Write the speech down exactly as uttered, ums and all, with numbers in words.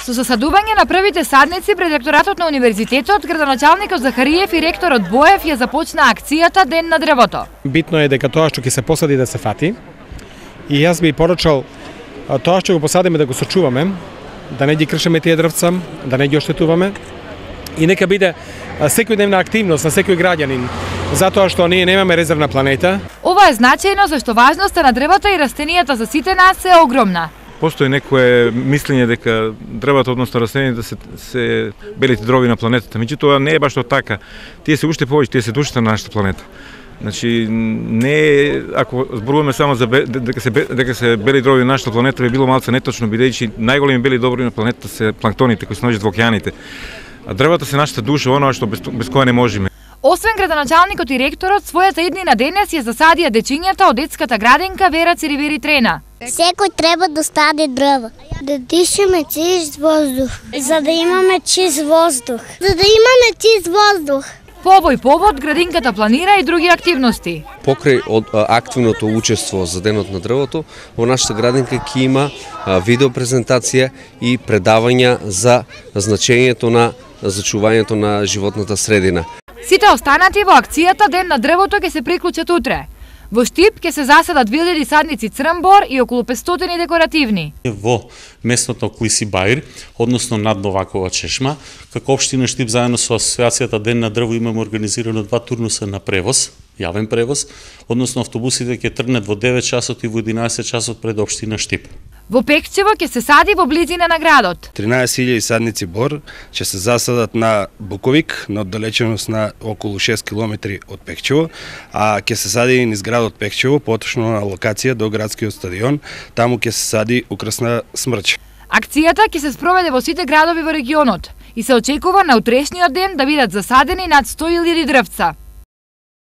Со засадување на првите садници пред ректоратот на универзитетот, градоначалникот Захариев и ректорот Боев ја започна акцијата Ден на дрвото. Битно е дека тоа што ќе се посади да се фати. И јас би порачал тоа што го посадиме да го сочуваме, да не ги кршиме тие дрвца, да не ги оштетуваме. И нека биде секојдневна активност на секој граѓанин, затоа што ние немаме резервна планета. Ова е значајно зашто важноста на дрвата и растенијата за сите нас е огромна. Постои некое мислење дека дрвата, односно растенијата се, се белите дрови на планетата, меѓутоа не е баш тоа така. Тие се уште повеќе, тие се душата на нашата планета. Значи, не ако зборуваме само за дека се дека се бели дрови на нашата планета, би било малце неточно, бидејќи најголеми бели дрови на планетата се планктоните кои се наоѓаат во океаните. А дрвата се нашата душа, оноа што без, без кое не можеме. Освен градоначалникот и ректорот, својата иднина денес ја засадија дечињата од детската градинка Вера Циривери Трена. Секој треба да стаде дрва. Да дишаме чист воздух. За да имаме чист воздух. За да имаме чист воздух. По овој повод, градинката планира и други активности. Покрај од активното учество за Денот на дрвото, во нашата градинка ќе има видеопрезентација и предавања за значењето на зачувањето на животната средина. Сите останати во акцијата Ден на дрвото ќе се приклучат утре. Во Штип ќе се засадат вилјади садници црнбор и околу петстотини декоративни. Во местото Клиси Баир, односно над Новакова чешма, како општина Штип заедно со Асоциацијата Ден на дрво имаме организирано два турнуса на превоз, јавен превоз, односно автобусите ќе тргнат во девет часот и во единаесет часот пред општина Штип. Во Пекчево ќе се сади во близина на градот. тринаесет илјади садници бор ќе се засадат на Буковик, на оддалеченост на околу шест километри од Пекчево, а ќе се сади и низ градот Пекчево, поточно на локација до градскиот стадион, таму ќе се сади украсна смрќ. Акцијата ќе се спроведе во сите градови во регионот и се очекува на утрешниот ден да бидат засадени над сто илјади дрвца.